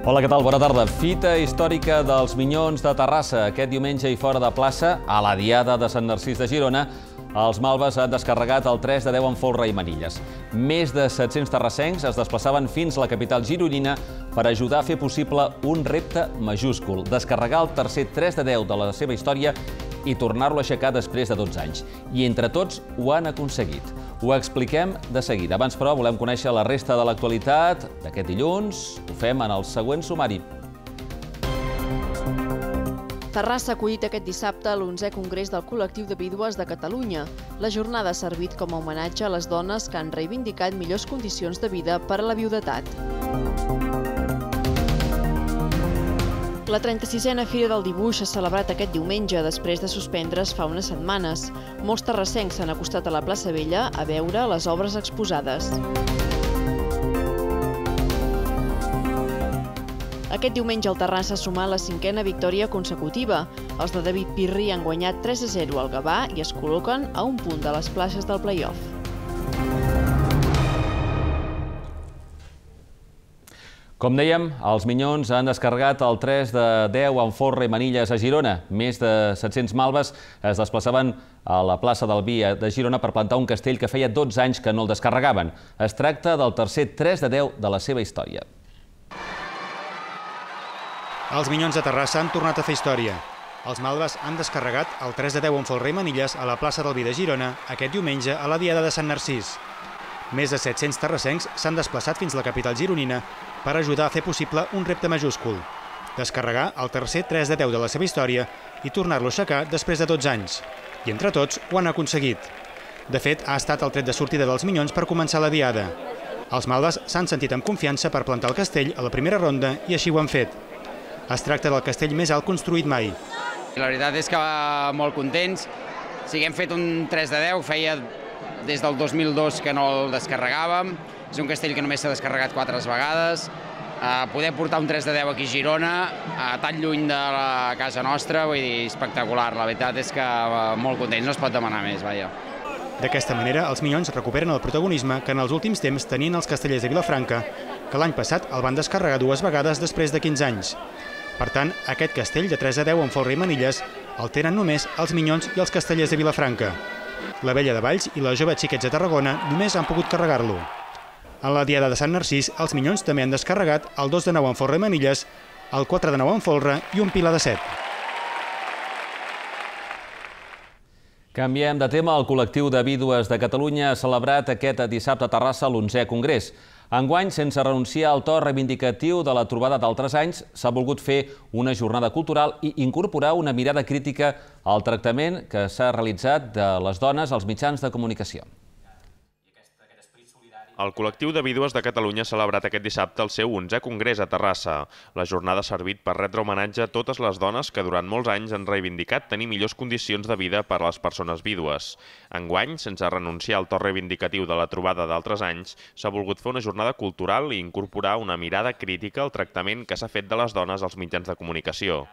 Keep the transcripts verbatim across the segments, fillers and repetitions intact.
Hola, què tal? Bona tarda. Fita històrica dels Minyons de Terrassa. Aquest diumenge i fora de plaça, a la Diada de Sant Narcís de Girona, els malves han descarregat el tres de deu amb folre i manilles. Més de set-cents terrassencs es desplaçaven fins a la capital gironina per ajudar a fer possible un repte majúscul: descarregar el tercer tres de deu de la seva història i tornar-lo a aixecar després de dotze anys. I entre tots ho han aconseguit. Ho expliquem de seguida. Abans, però, volem conèixer la resta de l'actualitat d'aquest dilluns. Ho fem en el següent sumari. Terrassa ha acollit aquest dissabte l'onzè Congrés del Col·lectiu de Vídues de Catalunya. La jornada ha servit com a homenatge a les dones que han reivindicat millors condicions de vida per a la viudetat. La trenta-sisena Fira del Dibuix s'ha celebrat aquest diumenge després de suspendre's fa unes setmanes. Molts terrassencs s'han acostat a la plaça Vella a veure les obres exposades. Aquest diumenge el Terrassa ha sumat la cinquena victòria consecutiva. Els de David Pirri han guanyat tres a zero al Gavà i es col·loquen a un punt de les places del play-off. Com dèiem, els Minyons han descarregat el tres de deu amb folre i manilles a Girona. Més de set-cents malves es desplaçaven a la plaça del Vi de Girona per plantar un castell que feia dotze anys que no el descarregaven. Es tracta del tercer tres de deu de la seva història. Els Minyons de Terrassa han tornat a fer història. Els malves han descarregat el tres de deu amb folre i manilles a la plaça del Vi de Girona aquest diumenge a la Diada de Sant Narcís. Més de set-cents terrassencs s'han desplaçat fins a la capital gironina per ajudar a fer possible un repte majúscul: descarregar el tercer tres de deu de la seva història i tornar-lo a aixecar després de dotze anys. I entre tots ho han aconseguit. De fet, ha estat el tret de sortida dels Minyons per començar la Diada. Els malves s'han sentit amb confiança per plantar el castell a la primera ronda i així ho han fet. Es tracta del castell més alt construït mai. La veritat és que molt contents. Sí que hem fet un tres de deu, feia des del dos mil dos que no el descarregàvem. És un castell que només s'ha descarregat quatre vegades. Poder portar un tres de deu aquí a Girona, tan lluny de la casa nostra, vull dir, espectacular. La veritat és que molt contents, no es pot demanar més, vaja. D'aquesta manera, els Minyons recuperen el protagonisme que en els últims temps tenien els castellers de Vilafranca, que l'any passat el van descarregar dues vegades després de quinze anys. Per tant, aquest castell de tres a deu amb folre i manilles el tenen només els Minyons i els castellers de Vilafranca. La Vella de Valls i la Jove Xiquets de Tarragona només han pogut carregar-lo. En la Diada de Sant Narcís, els Minyons també han descarregat el dos de nou amb folre i manilles, el quatre de nou amb folre i un pilar de set. Canviem de tema. El Col·lectiu de Vídues de Catalunya ha celebrat aquest dissabte a Terrassa l'onzè Congrés. Enguany, sense renunciar al to reivindicatiu de la trobada d'altres anys, s'ha volgut fer una jornada cultural i incorporar una mirada crítica al tractament que s'ha realitzat de les dones als mitjans de comunicació. El Col·lectiu de Vídues de Catalunya ha celebrat aquest dissabte el seu onzè Congrés a Terrassa. La jornada ha servit per retre homenatge a totes les dones que durant molts anys han reivindicat tenir millors condicions de vida per a les persones vídues. Enguany, sense renunciar al to reivindicatiu de la trobada d'altres anys, s'ha volgut fer una jornada cultural i incorporar una mirada crítica al tractament que s'ha fet de les dones als mitjans de comunicació.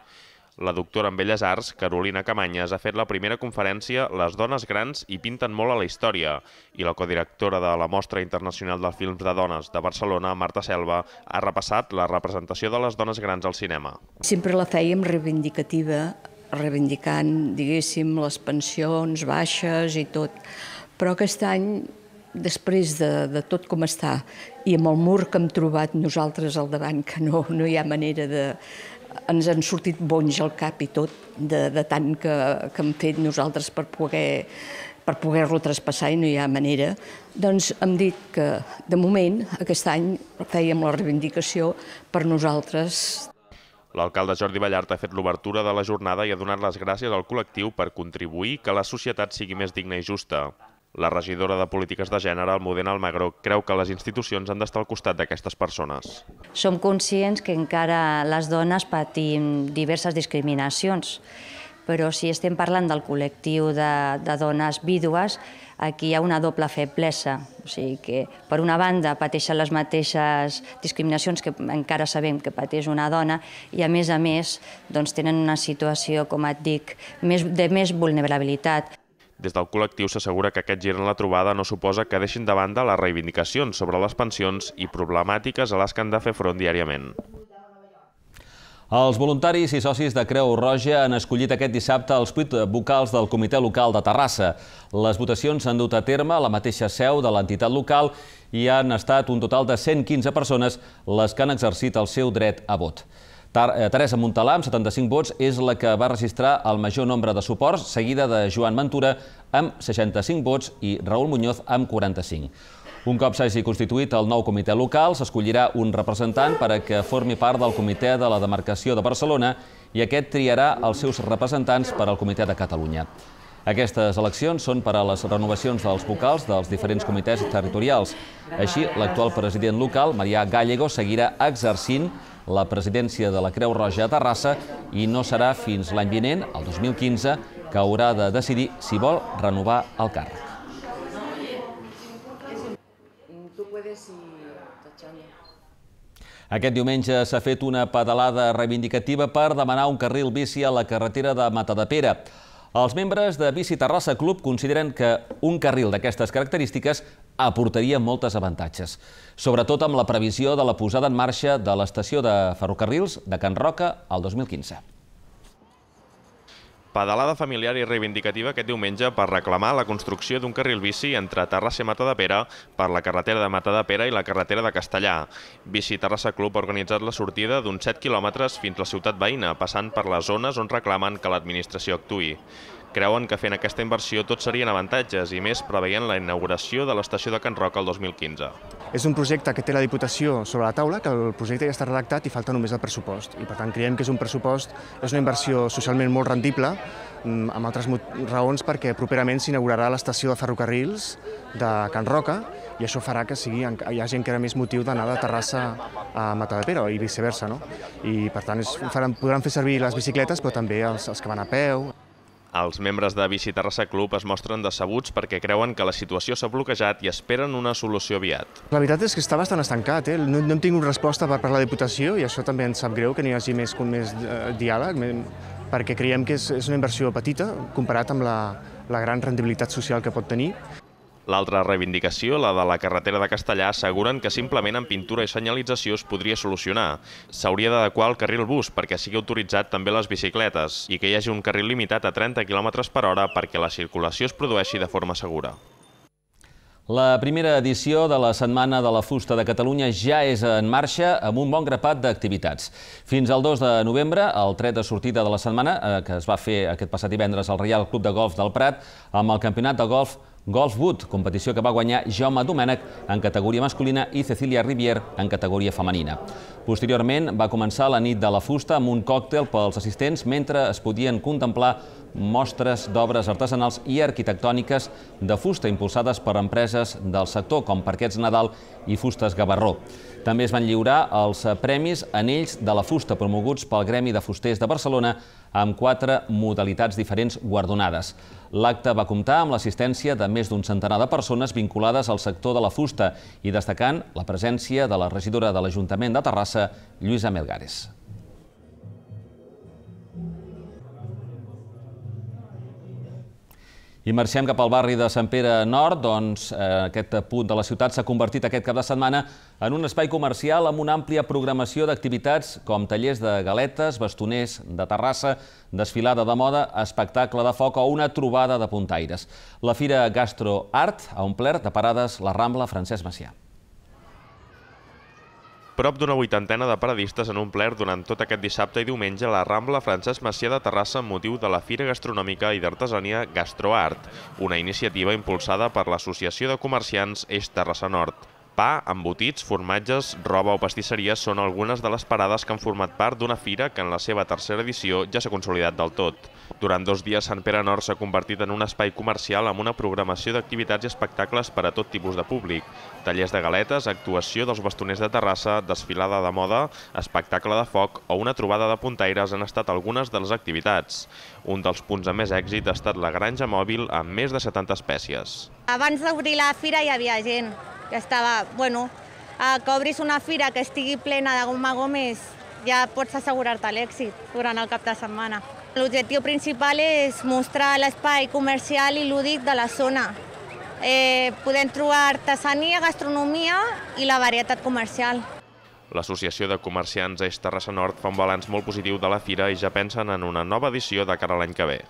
La doctora en Belles Arts, Carolina Camanyes, ha fet la primera conferència Les dones grans hi pinten molt a la història, i la codirectora de la Mostra Internacional dels Films de Dones de Barcelona, Marta Selva, ha repassat la representació de les dones grans al cinema. Sempre la fèiem reivindicativa, reivindicant, diguéssim, les pensions baixes i tot, però aquest any, després de, de tot com està, i amb el mur que hem trobat nosaltres al davant, que no, no hi ha manera de... ens han sortit bonys al cap i tot, de, de tant que, que hem fet nosaltres per poder, per poder-lo traspassar i no hi ha manera, doncs hem dit que, de moment, aquest any fèiem la reivindicació per nosaltres. L'alcalde Jordi Ballart ha fet l'obertura de la jornada i ha donat les gràcies al col·lectiu per contribuir que la societat sigui més digna i justa. La regidora de Polítiques de Gènere, Almudena Almagro, creu que les institucions han d'estar al costat d'aquestes persones. Som conscients que encara les dones patim diverses discriminacions, però si estem parlant del col·lectiu de, de dones vídues, aquí hi ha una doble feblesa. O sigui que, per una banda, pateixen les mateixes discriminacions que encara sabem que pateix una dona i, a més a més, doncs, tenen una situació, com et dic, més, de més vulnerabilitat. Des del col·lectiu s'assegura que aquest gir en la trobada no suposa que deixin de banda les reivindicacions sobre les pensions i problemàtiques a les que han de fer front diàriament. Els voluntaris i socis de Creu Roja han escollit aquest dissabte els vuit vocals del Comitè Local de Terrassa. Les votacions s'han dut a terme a la mateixa seu de l'entitat local i han estat un total de cent quinze persones les que han exercit el seu dret a vot. Teresa Montalà, amb setanta-cinc vots, és la que va registrar el major nombre de suports, seguida de Joan Ventura, amb seixanta-cinc vots, i Raül Muñoz, amb quaranta-cinc. Un cop s'hagi constituït el nou comitè local, s'escollirà un representant per a que formi part del comitè de la demarcació de Barcelona i aquest triarà els seus representants per al comitè de Catalunya. Aquestes eleccions són per a les renovacions dels vocals dels diferents comitès territorials. Així, l'actual president local, Marià Gallego, seguirà exercint la presidència de la Creu Roja a Terrassa i no serà fins l'any vinent, el dos mil quinze, que haurà de decidir si vol renovar el càrrec. Aquest diumenge s'ha fet una pedalada reivindicativa per demanar un carril bici a la carretera de Matadepera. Els membres de Bici Terrassa Club consideren que un carril d'aquestes característiques aportaria moltes avantatges, sobretot amb la previsió de la posada en marxa de l'estació de ferrocarrils de Can Roca el dos mil quinze. Pedalada familiar i reivindicativa aquest diumenge per reclamar la construcció d'un carril bici entre Terrassa i Matadepera per la carretera de Matadepera i la carretera de Castellà. Bici Terrassa Club ha organitzat la sortida d'uns set quilòmetres fins a la ciutat veïna, passant per les zones on reclamen que l'administració actuï. Creuen que fent aquesta inversió tots serien avantatges, i més preveient la inauguració de l'estació de Can Roca el dos mil quinze. És un projecte que té la Diputació sobre la taula, que el projecte ja està redactat i falta només el pressupost. I per tant creiem que és un pressupost, és una inversió socialment molt rendible, amb altres raons perquè properament s'inaugurarà l'estació de ferrocarrils de Can Roca i això farà que sigui, hi hagi encara més motiu d'anar de Terrassa a Matadepera i viceversa. No? I per tant és, faran, podran fer servir les bicicletes però també els, els que van a peu. Els membres de Bici Terrassa Club es mostren decebuts perquè creuen que la situació s'ha bloquejat i esperen una solució aviat. La veritat és que està bastant estancat, eh? no, no hem tingut resposta per part de la Diputació i això també ens sap greu que n'hi hagi més, més eh, diàleg, perquè creiem que és, és una inversió petita comparat amb la, la gran rendibilitat social que pot tenir. L'altra reivindicació, la de la carretera de Castellà, asseguren que simplement amb pintura i senyalització es podria solucionar. S'hauria d'adequar el carril bus perquè sigui autoritzat també les bicicletes i que hi hagi un carril limitat a trenta quilòmetres per hora perquè la circulació es produeixi de forma segura. La primera edició de la Setmana de la Fusta de Catalunya ja és en marxa amb un bon grapat d'activitats. Fins al dos de novembre, el tret de sortida de la setmana, que es va fer aquest passat divendres al Reial Club de Golf del Prat, amb el campionat de golf Golf Wood, competició que va guanyar Jaume Domènech en categoria masculina i Cecília Rivier en categoria femenina. Posteriorment va començar la nit de la fusta amb un còctel pels assistents mentre es podien contemplar mostres d'obres artesanals i arquitectòniques de fusta impulsades per empreses del sector com Parquets Nadal i Fustes Gavarró. També es van lliurar els premis Anells de la Fusta promoguts pel Gremi de Fusters de Barcelona amb quatre modalitats diferents guardonades. L'acte va comptar amb l'assistència de més d'un centenar de persones vinculades al sector de la fusta i destacant la presència de la regidora de l'Ajuntament de Terrassa, Lluïsa Melgares. I marxem cap al barri de Sant Pere Nord, doncs aquest punt de la ciutat s'ha convertit aquest cap de setmana en un espai comercial amb una àmplia programació d'activitats com tallers de galetes, bastoners de Terrassa, desfilada de moda, espectacle de foc o una trobada de puntaires. La Fira Gastro Art ha omplert de parades la Rambla Francesc Macià. Prop d'una vuitantena de paradistes han omplert durant tot aquest dissabte i diumenge la Rambla Francesc Macià de Terrassa amb motiu de la Fira Gastronòmica i d'Artesania Gastroart, una iniciativa impulsada per l'Associació de Comerciants Eix Terrassa Nord. Pa, embotits, formatges, roba o pastisseries són algunes de les parades que han format part d'una fira que en la seva tercera edició ja s'ha consolidat del tot. Durant dos dies, Sant Pere Nord s'ha convertit en un espai comercial amb una programació d'activitats i espectacles per a tot tipus de públic. Tallers de galetes, actuació dels bastoners de Terrassa, desfilada de moda, espectacle de foc o una trobada de puntaires han estat algunes de les activitats. Un dels punts de més èxit ha estat la granja mòbil amb més de setanta espècies. Abans d'obrir la fira hi havia gent que estava, bueno, que obris una fira que estigui plena de goma gomes ja pots assegurar-te l'èxit durant el cap de setmana. L'objectiu principal és mostrar l'espai comercial i lúdic de la zona. Eh, podem trobar artesania, gastronomia i la varietat comercial. L'Associació de Comerciants Eix Terrassa Nord fa un balanç molt positiu de la fira i ja pensen en una nova edició de cara a l'any que ve.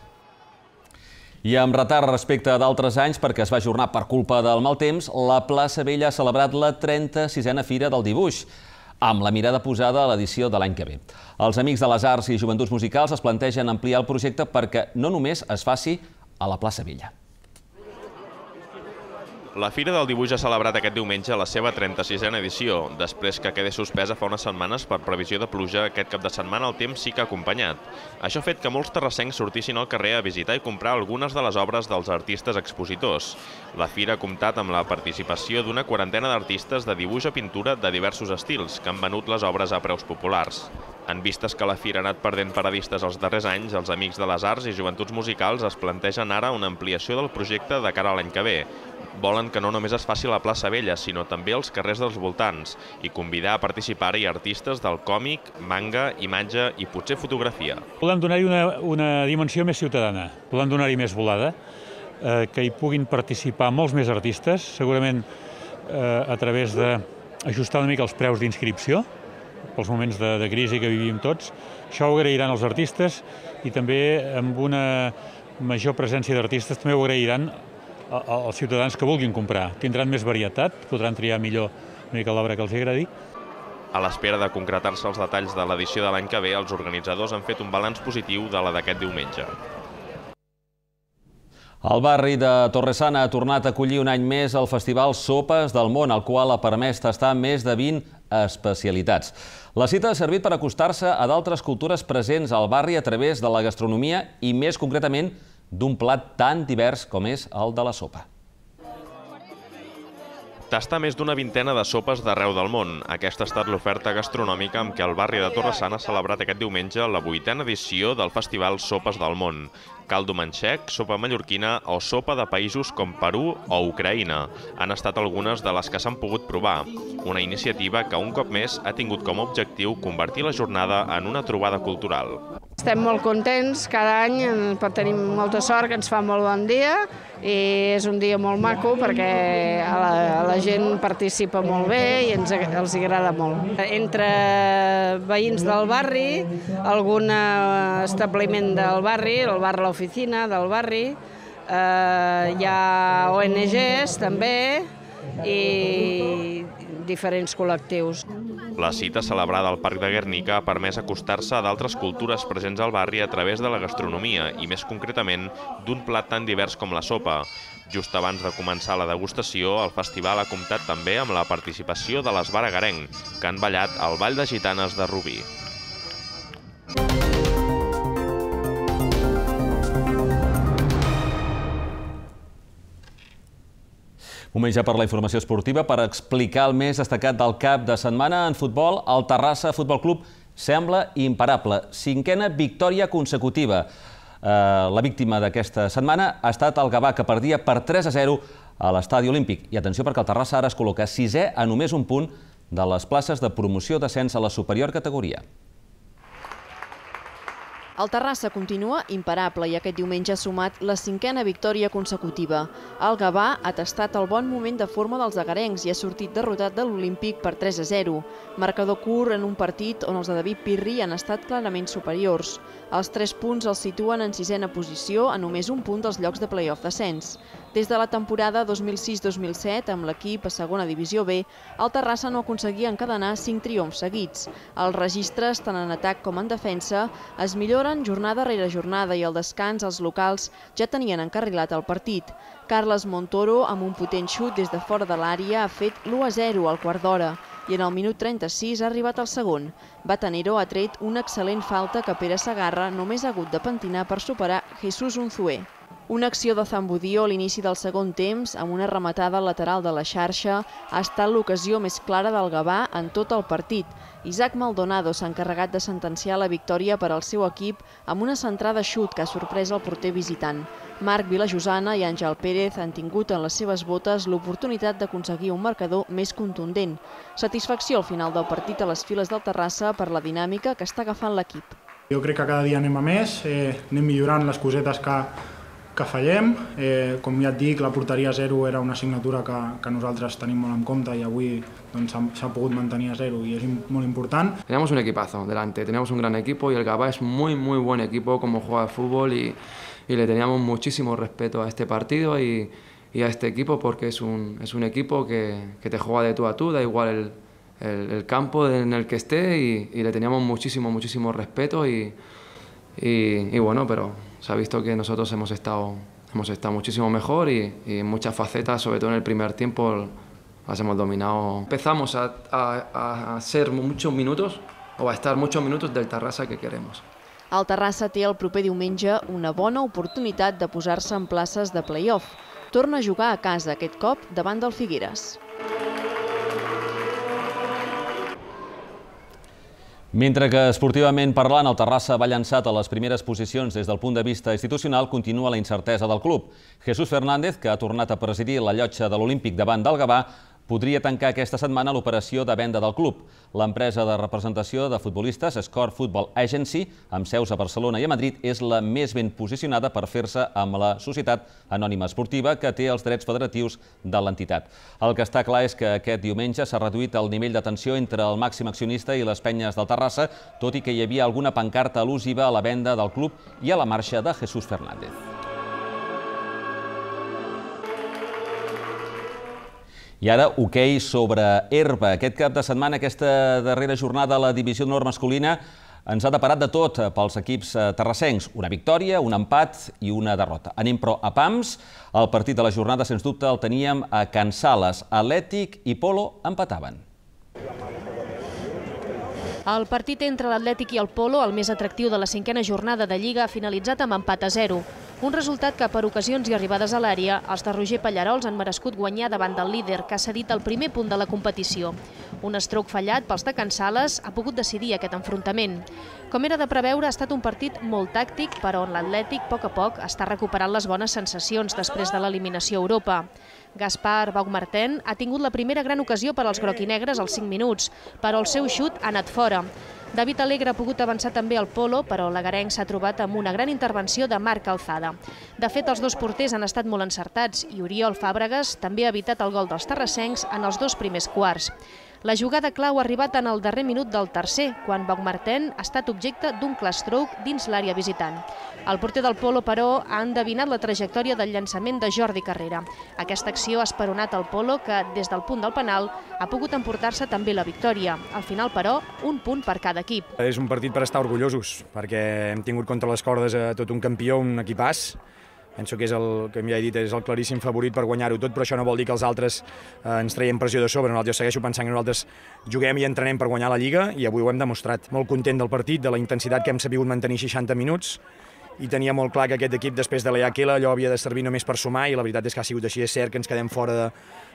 I amb retard respecte d'altres anys, perquè es va ajornar per culpa del mal temps, la plaça Vella ha celebrat la trenta-sisena Fira del Dibuix, amb la mirada posada a l'edició de l'any que ve. Els Amics de les Arts i Joventuts Musicals es plantegen ampliar el projecte perquè no només es faci a la plaça Vella. La Fira del Dibuix ha celebrat aquest diumenge la seva trenta-sisena edició, després que quedés suspesa fa unes setmanes per previsió de pluja. Aquest cap de setmana el temps sí que ha acompanyat. Això ha fet que molts terrassencs sortissin al carrer a visitar i comprar algunes de les obres dels artistes expositors. La Fira ha comptat amb la participació d'una quarantena d'artistes de dibuix o pintura de diversos estils, que han venut les obres a preus populars. En vistes que la Fira ha anat perdent paradistes els darrers anys, els Amics de les Arts i Joventuts Musicals es plantegen ara una ampliació del projecte de cara a l'any que ve. Volen que no només es faci a la plaça Vella, sinó també als carrers dels voltants, i convidar a participar-hi artistes del còmic, manga, imatge i potser fotografia. Volem donar-hi una, una dimensió més ciutadana, volem donar-hi més volada, eh, que hi puguin participar molts més artistes, segurament eh, a través d'ajustar una mica els preus d'inscripció, pels moments de, de crisi que vivim tots. Això ho agrairan els artistes i també amb una major presència d'artistes també ho agrairan els ciutadans que vulguin comprar. Tindran més varietat, podran triar millor una mica l'obra que els agradi. A l'espera de concretar-se els detalls de l'edició de l'any que ve, els organitzadors han fet un balanç positiu de la d'aquest diumenge. El barri de Torresana ha tornat a acollir un any més el Festival Sopes del Món, el qual ha permès tastar més de vint especialitats. La cita ha servit per acostar-se a d'altres cultures presents al barri a través de la gastronomia i, més concretament, d'un plat tan divers com és el de la sopa. Tastar més d'una vintena de sopes d'arreu del món. Aquesta ha estat l'oferta gastronòmica amb què el barri de Torresana ha celebrat aquest diumenge la vuitena edició del Festival Sopes del Món. Caldo manxec, sopa mallorquina o sopa de països com Perú o Ucraïna han estat algunes de les que s'han pogut provar. Una iniciativa que un cop més ha tingut com a objectiu convertir la jornada en una trobada cultural. Estem molt contents, cada any tenim molta sort, que ens fa molt bon dia i és un dia molt maco perquè la, la gent participa molt bé i ens, els agrada molt. Entre veïns del barri, algun establiment del barri, el bar L'Oficina del barri, eh, hi ha O N Ges també i diferents col·lectius. La cita celebrada al Parc de Guernica ha permès acostar-se a d'altres cultures presents al barri a través de la gastronomia i, més concretament, d'un plat tan divers com la sopa. Just abans de començar la degustació, el festival ha comptat també amb la participació de les Baragarenc, que han ballat al Ball de Gitanes de Rubí. Moment ja per la informació esportiva, per explicar el més destacat del cap de setmana en futbol. El Terrassa Futbol Club sembla imparable. Cinquena victòria consecutiva. La víctima d'aquesta setmana ha estat el Gavà, que perdia per tres a zero a l'Estadi Olímpic. I atenció, perquè el Terrassa ara es col·loca sisè a només un punt de les places de promoció d'ascens a la superior categoria. El Terrassa continua imparable i aquest diumenge ha sumat la cinquena victòria consecutiva. El Gavà ha tastat el bon moment de forma dels agarencs i ha sortit derrotat de l'Olímpic per tres a zero. Marcador curt en un partit on els de David Pirri han estat clarament superiors. Els tres punts els situen en sisena posició a només un punt dels llocs de play-off d'ascens. Des de la temporada dos mil sis dos mil set, amb l'equip a segona divisió B, el Terrassa no aconseguia encadenar cinc triomfs seguits. Els registres, tant en atac com en defensa, es milloren jornada rere jornada i al descans els locals ja tenien encarrilat el partit. Carles Montoro, amb un potent xut des de fora de l'àrea, ha fet l'u a zero al quart d'hora i en el minut trenta-sis ha arribat el segon. Batanero ha tret una excel·lent falta que Pere Segarra només ha hagut de pentinar per superar Jesús Unzué. Una acció de Zambudío a l'inici del segon temps, amb una rematada lateral de la xarxa, ha estat l'ocasió més clara del Gavà en tot el partit. Isaac Maldonado s'ha encarregat de sentenciar la victòria per al seu equip amb una centrada xut que ha sorprès el porter visitant. Marc Vilajosana i Àngel Pérez han tingut en les seves botes l'oportunitat d'aconseguir un marcador més contundent. Satisfacció al final del partit a les files del Terrassa per la dinàmica que està agafant l'equip. Jo crec que cada dia anem a més, eh, anem millorant les cosetes que que fallem. Eh, com ja et dic, la porteria a zero era una assignatura que, que nosaltres tenim molt en compte i avui doncs, s'ha pogut mantenir a zero y es muy importante. Teníamos un equipazo delante, teníamos un gran equipo y el Gavà es muy muy buen equipo como juega al fútbol y, y le teníamos muchísimo respeto a este partido y, y a este equipo porque es un, es un equipo que, que te juega de tú a tú, da igual el, el, el campo en el que esté y, y le teníamos muchísimo muchísimo respeto y, y, y bueno, pero se ha visto que nosotros hemos estado, hemos estado muchísimo mejor y, y en muchas facetas, sobre todo en el primer tiempo, las hemos dominado. Empezamos a, a, a ser muchos minutos o a estar muchos minutos del Terrassa que queremos. El Terrassa té el proper diumenge una bona oportunitat de posar-se en places de play-off. Torna a jugar a casa aquest cop davant del Figueres. Mentre que esportivament parlant el Terrassa va llançat a les primeres posicions des del punt de vista institucional, continua la incertesa del club. Jesús Fernández, que ha tornat a presidir la llotja de l'Olímpic davant del Gavà, podria tancar aquesta setmana l'operació de venda del club. L'empresa de representació de futbolistes Score Football Agency, amb seus a Barcelona i a Madrid, és la més ben posicionada per fer-se amb la Societat Anònima Esportiva, que té els drets federatius de l'entitat. El que està clar és que aquest diumenge s'ha reduït el nivell de tensió entre el màxim accionista i les penyes del Terrassa, tot i que hi havia alguna pancarta al·lusiva a la venda del club i a la marxa de Jesús Fernández. I ara, hoquei sobre herba. Aquest cap de setmana, aquesta darrera jornada a la divisió d'honor masculina, ens ha deparat de tot pels equips terrassencs. Una victòria, un empat i una derrota. Anem, però, a pams. El partit de la jornada, sens dubte, el teníem a Can Sales. Atlètic i Polo empataven. El partit entre l'Atlètic i el Polo, el més atractiu de la cinquena jornada de Lliga, ha finalitzat amb empat a zero. Un resultat que, per ocasions i arribades a l'àrea, els de Roger Pallarols han merescut guanyar davant del líder, que ha cedit el primer punt de la competició. Un estroc fallat pels de Can Sales ha pogut decidir aquest enfrontament. Com era de preveure, ha estat un partit molt tàctic, però on l'Atlètic, a poc a poc, està recuperant les bones sensacions després de l'eliminació a Europa. Gaspar Baumgarten ha tingut la primera gran ocasió per als groquinegres als cinc minuts, però el seu xut ha anat fora. David Alegre ha pogut avançar també al Polo, però l'agarenc s'ha trobat amb una gran intervenció de Marc Alzada. De fet, els dos porters han estat molt encertats i Oriol Fàbregas també ha evitat el gol dels terrassencs en els dos primers quarts. La jugada clau ha arribat en el darrer minut del tercer, quan Baumgarten ha estat objecte d'un clar stroke dins l'àrea visitant. El porter del Polo, però, ha endevinat la trajectòria del llançament de Jordi Carrera. Aquesta acció ha esperonat el Polo, que, des del punt del penal, ha pogut emportar-se també la victòria. Al final, però, un punt per cada equip. És un partit per estar orgullosos, perquè hem tingut contra les cordes a tot un campió, un equipàs. Penso que és el, com ja he dit, és el claríssim favorit per guanyar-ho tot, però això no vol dir que els altres eh, ens traiem pressió de sobre. Nosaltres segueixo pensant que nosaltres juguem i entrenem per guanyar la Lliga i avui ho hem demostrat. Molt content del partit, de la intensitat que hem sabut mantenir seixanta minuts i tenia molt clar que aquest equip, després de l'E A Q L, allò havia de servir només per sumar i la veritat és que ha sigut així. És cert que ens quedem fora de,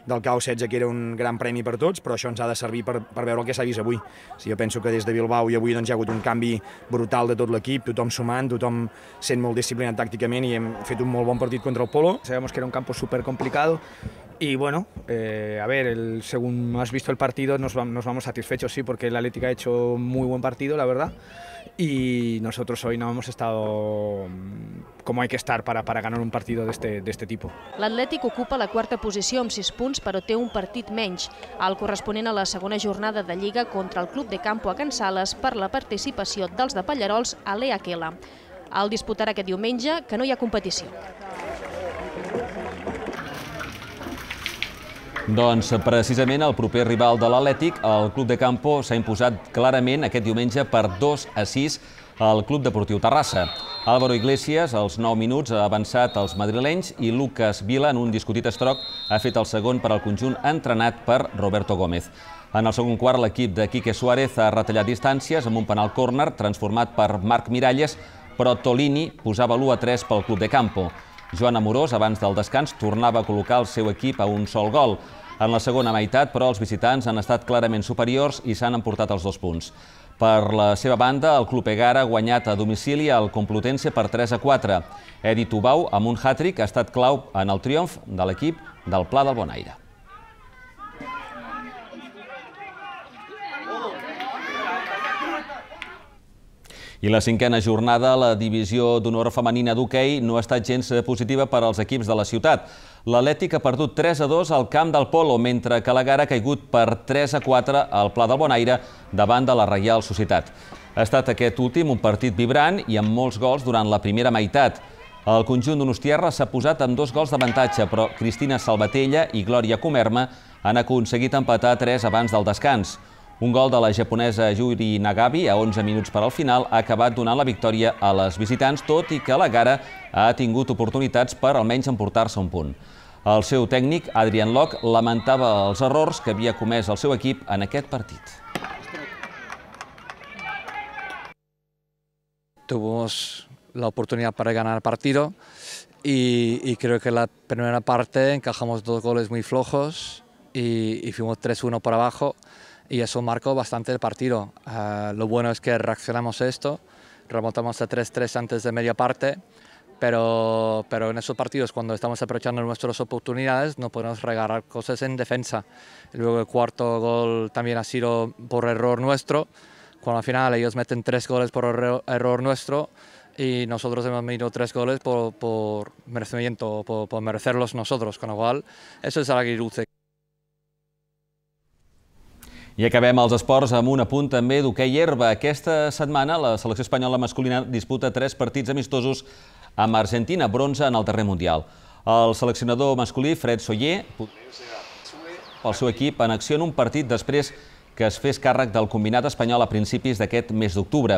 del K O setze, que era un gran premi per tots, però això ens ha de servir per, per veure el que s'ha vist avui. O sigui, jo penso que des de Bilbao i avui doncs, hi ha hagut un canvi brutal de tot l'equip, tothom sumant, tothom sent molt disciplinat tàcticament i hem fet un molt bon partit contra el Polo. Sabemos que era un campo súper complicado y bueno, eh, a ver, el, según has visto el partido nos, nos vamos satisfechos, sí, porque el Atlético ha hecho muy buen partido, la verdad. Y nosotros hoy no hemos estado como hay que estar para, para ganar un partido de este, de este tipo. L'Atlètic ocupa la quarta posició amb sis punts, però té un partit menys, el corresponent a la segona jornada de Lliga contra el Club de Campo a Can Sales per la participació dels de Pallarols a l'E A Q L. El disputarà aquest diumenge, que no hi ha competició. Doncs precisament el proper rival de l'Atlètic, el Club de Campo, s'ha imposat clarament aquest diumenge per dos a sis al Club Deportiu Terrassa. Álvaro Iglesias, als nou minuts, ha avançat els madrilenys i Lucas Vila, en un discutit estroc, ha fet el segon per al conjunt entrenat per Roberto Gómez. En el segon quart, l'equip de Quique Suárez ha retallat distàncies amb un penal córner transformat per Marc Miralles, però Tolini posava l'u a tres pel Club de Campo. Joan Amorós, abans del descans, tornava a col·locar el seu equip a un sol gol. En la segona meitat, però, els visitants han estat clarament superiors i s'han emportat els dos punts. Per la seva banda, el Club Egara ha guanyat a domicili al Complutense per tres a quatre. Edi Tubau, amb un hat-trick, ha estat clau en el triomf de l'equip del Pla del Bonaire. I la cinquena jornada, la divisió d'honor femenina d'hoquei no ha estat gens positiva per als equips de la ciutat. L'Atlètic ha perdut tres a dos al camp del Polo, mentre que l'Egara ha caigut per tres a quatre al Pla del Bonaire davant de la Reial Societat. Ha estat aquest últim un partit vibrant i amb molts gols durant la primera meitat. El conjunt donostiarra s'ha posat amb dos gols d'avantatge, però Cristina Salvatella i Glòria Comerma han aconseguit empatar tres abans del descans. Un gol de la japonesa Yuri Nagabi a onze minuts per al final ha acabat donant la victòria a les visitants, tot i que l'Egara ha tingut oportunitats per almenys emportar-se un punt. El seu tècnic, Adrian Locke, lamentava els errors que havia comès el seu equip en aquest partit. Tuvimos la oportunidad para ganar el partido y, y creo que la primera parte encajamos dos goles muy flojos y, y fuimos tres uno por abajo. Y eso marcó bastante el partido. Uh, lo bueno es que reaccionamos a esto, remontamos a tres tres antes de media parte, pero, pero en esos partidos, cuando estamos aprovechando nuestras oportunidades, no podemos regalar cosas en defensa. Y luego el cuarto gol también ha sido por error nuestro, cuando al final ellos meten tres goles por error, error nuestro y nosotros hemos metido tres goles por, por merecimiento, por, por merecerlos nosotros, con lo cual eso es agridulce. I acabem els esports amb un apunt també d'hoquei herba. Aquesta setmana la selecció espanyola masculina disputa tres partits amistosos amb Argentina, bronze en el darrer mundial. El seleccionador masculí, Fred Soller, el seu equip en acció en un partit després que es fes càrrec del combinat espanyol a principis d'aquest mes d'octubre.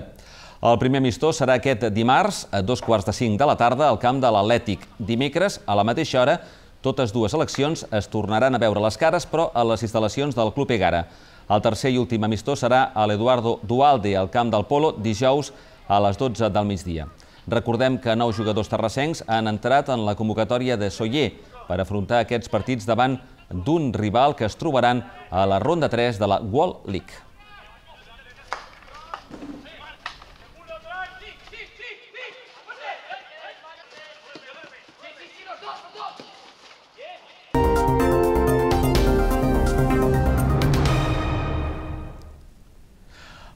El primer amistós serà aquest dimarts a dos quarts de cinc de la tarda al camp de l'Atlètic. Dimecres, a la mateixa hora, totes dues seleccions es tornaran a veure les cares, però a les instal·lacions del Club Egara. El tercer i últim amistós serà a l'Eduardo Duhalde, al camp del Polo, dijous a les dotze del migdia. Recordem que nou jugadors terrassencs han entrat en la convocatòria de Soller per afrontar aquests partits davant d'un rival que es trobaran a la ronda tres de la World League.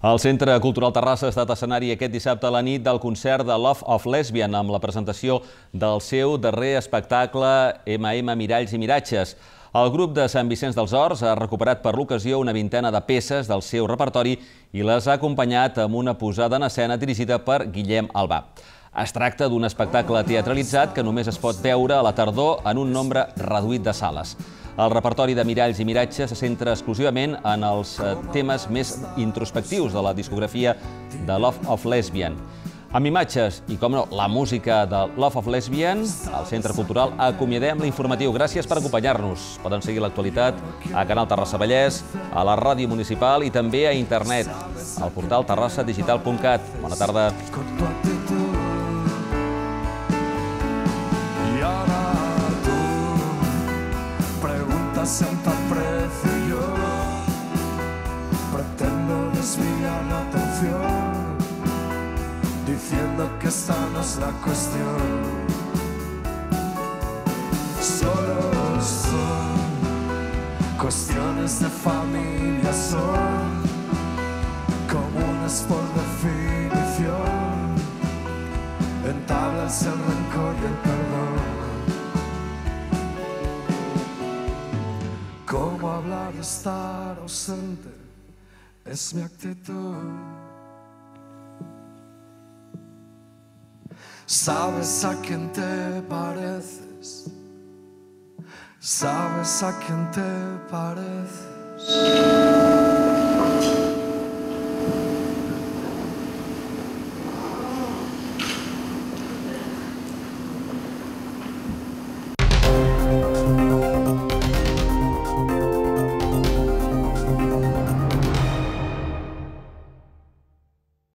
El Centre Cultural Terrassa ha estat escenari aquest dissabte a la nit del concert de Love of Lesbian amb la presentació del seu darrer espectacle eme eme Miralls i Miratges. El grup de Sant Vicenç dels Horts ha recuperat per l'ocasió una vintena de peces del seu repertori i les ha acompanyat amb una posada en escena dirigida per Guillem Albà. Es tracta d'un espectacle teatralitzat que només es pot veure a la tardor en un nombre reduït de sales. El repertori de Miralls i Miratges se centra exclusivament en els temes més introspectius de la discografia de Love of Lesbian. Amb imatges i, com no, la música de Love of Lesbian, al Centre Cultural acomiadem l'informatiu. Gràcies per acompanyar-nos. Poden seguir l'actualitat a Canal Terrassa Vallès, a la ràdio municipal i també a internet, al portal terrassa digital punt cat. Bona tarda. Siento aprecio yo, pretendo desviar la atención, diciendo que esta no es la cuestión. Solo son cuestiones de familia, son comunes por definición, entablas el rencor y el perdón. Cómo hablar de estar ausente es mi actitud. Sabes a quién te pareces, sabes a quién te pareces.